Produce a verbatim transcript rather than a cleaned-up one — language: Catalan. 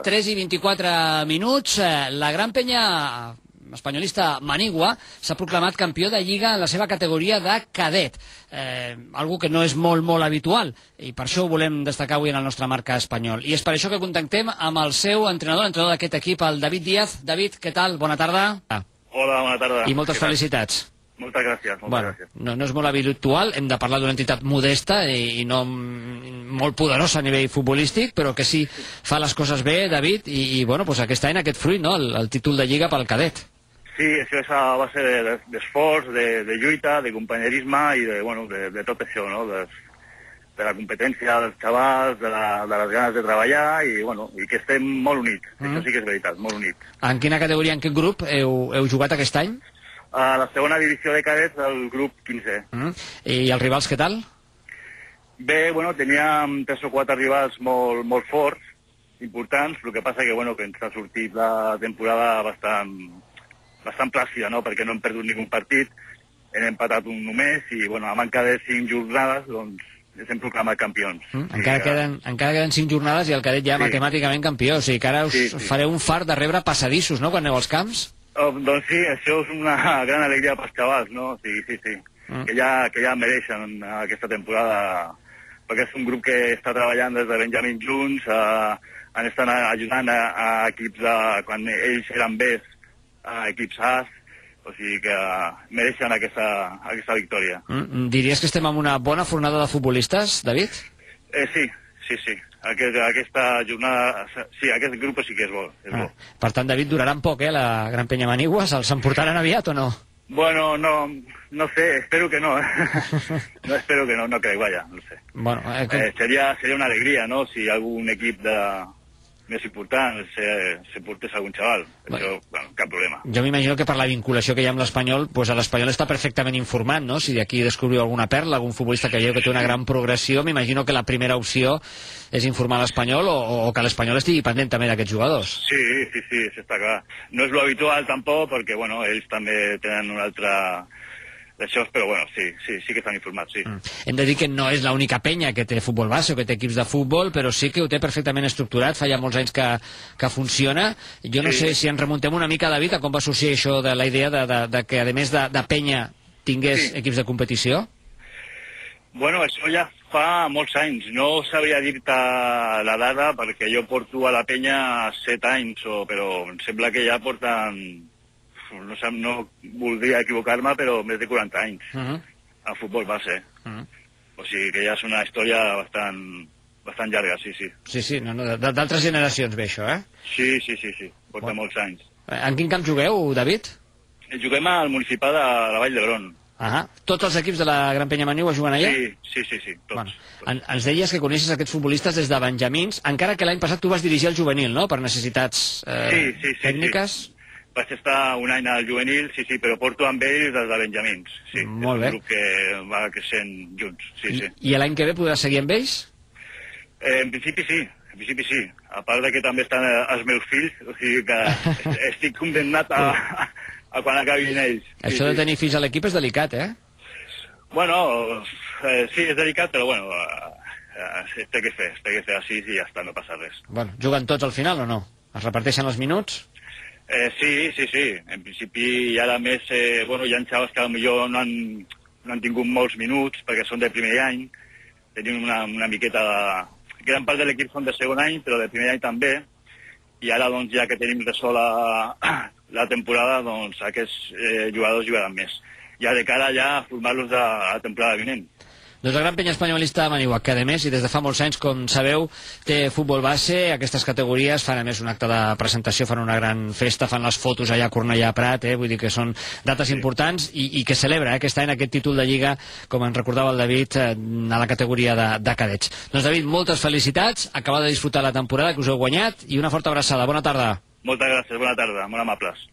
tres i vint-i-quatre minuts, la gran penya espanyolista Manigua s'ha proclamat campió de Lliga en la seva categoria de cadet, eh, algo que no és molt, molt habitual, i per això ho volem destacar avui en el nostre marca espanyol. I és per això que contactem amb el seu entrenador, l'entrenador d'aquest equip, el David Díaz. David, què tal? Bona tarda. Hola, bona tarda. I moltes felicitats. Moltes gràcies. Moltes bueno, gràcies. No, no és molt habitual, hem de parlar d'una entitat modesta i, i no molt poderosa a nivell futbolístic, però que sí fa les coses bé, David, i, i bueno, pues aquest any aquest fruit, no? el, el títol de Lliga pel cadet. Sí, això és a base d'esforç, de, de lluita, de companyerisme i de, bueno, de, de tot això, no? de, de la competència dels xavals, de, la, de les ganes de treballar i, bueno, i que estem molt units. Mm. Això sí que és veritat, molt units. En quina categoria, en quin grup heu, heu jugat aquest any? A la segona divisió de cadets del grup quinze. Mm. I els rivals què tal? Bé, bueno, teníem tres o quatre rivals molt, molt forts, importants, el que passa que, bueno, que ens ha sortit la temporada bastant, bastant plàcida, no?, perquè no hem perdut ningú partit, hem empatat un només i, bueno, a manca de cinc jornades, doncs, ens hem proclamat campions. Mm. Encara, sí, queden, ja... encara queden cinc jornades i el cadet ja sí. matemàticament campió, o sigui que ara us sí, sí. fareu un fart de rebre passadissos, no?, quan aneu als camps? Oh, doncs sí, això és una gran alegria pels xavals, no? Sí, sí, sí. Mm. Que, ja, que ja mereixen aquesta temporada, perquè és un grup que està treballant des de Benjamín junts, eh, han estat ajudant a, a equips de, quan ells eren Bs, a equips As, o sigui que mereixen aquesta, aquesta victòria. Mm. Diries que estem en una bona fornada de futbolistes, David? Eh, sí, sí, sí. Aquest, aquesta jornada, sí, aquest grup sí que és bo. És ah. bo. Per tant, David, duraran poc, eh, la Gran Penya Manigua? Se'ls emportaran aviat o no? Bueno, no, no sé, espero que no. no espero que no, no crec, vaja, no sé. Bueno, eh, com... eh, seria, seria una alegria, no?, si algun equip de més important se, se portés algun xaval. Bueno. Això, bueno, cap problema. Jo m'imagino que per la vinculació que hi ha amb l'Espanyol, pues l'Espanyol està perfectament informat, no? Si d'aquí descobriu alguna perla, algun futbolista que veieu que té una gran progressió, m'imagino que la primera opció és informar l'Espanyol o, o que l'Espanyol estigui pendent també d'aquests jugadors. Sí, sí, sí, això està clar. No és lo habitual tampoc, perquè, bueno, ells també tenen una altra... d'això, però bueno, sí, sí, sí que estan informats, sí. Mm. Hem de dir que no és l'única penya que té futbol base o que té equips de futbol, però sí que ho té perfectament estructurat, fa ja molts anys que, que funciona. Jo no sí. sé si ens remuntem una mica, David, a com va sorgir això de la idea de, de, de que, a més de, de penya, tingués sí. equips de competició? Bueno, això ja fa molts anys. No sabria dir-te la dada, perquè jo porto a la penya set anys, o, però em sembla que ja porten... No, sé, no voldria equivocar-me, però més de quaranta anys uh -huh. a futbol base. Uh -huh. O sigui que ja és una història bastant, bastant llarga, sí, sí. Sí, sí, no, no, d'altres generacions ve això, eh? Sí, sí, sí, sí. Porta bueno. molts anys. En quin camp jugueu, David? Juguem al municipal de la Vall d'Hebron. Ah, tots els equips de la Gran Penya Manigua juguen allà? Sí, sí, sí, sí, tots. Bueno, tots. Ens deies que coneixes aquests futbolistes des de benjamins, encara que l'any passat tu vas dirigir el juvenil, no?, per necessitats eh, sí, sí, sí, tècniques? Sí. Vaig estar un any al juvenil, sí, sí, però porto amb ells des de benjamins. Sí, molt bé. És un grup que va creixent junts, sí, I, sí. I l'any que ve podràs seguir amb ells? Eh, en principi sí, en principi sí. A part de que també estan els meus fills, o sigui que estic condemnat a, a, a quan acabin ells. Sí, Això de sí. tenir fills a l'equip és delicat, eh? Bueno, eh, sí, és delicat, però bueno, eh, té que fer, té que fer així i ja està, no passa res. Bueno, juguen tots al final o no? Es reparteixen els minuts? Eh, sí, sí, sí. En principi, i ara més, eh, bueno, hi ha xavals que potser no han, no han tingut molts minuts perquè són de primer any. Tenim una, una miqueta de... Gran part de l'equip són de segon any, però de primer any també. I ara, doncs, ja que tenim de sola la temporada, doncs, aquests eh, jugadors jugaran més. Ja de cara ja a formar-los de la temporada vinent. Doncs la Gran Penya Espanyolista Manigua, que a més, i des de fa molts anys, com sabeu, té futbol base, aquestes categories fan a més un acte de presentació, fan una gran festa, fan les fotos allà a Cornellà Prat, eh? Vull dir que són dates sí. importants i, i que celebra eh, aquest any aquest títol de Lliga, com ens recordava el David, eh, a la categoria de, de cadets. Doncs David, moltes felicitats, acabeu de disfrutar la temporada que us heu guanyat i una forta abraçada. Bona tarda. Moltes gràcies, bona tarda, molt amables.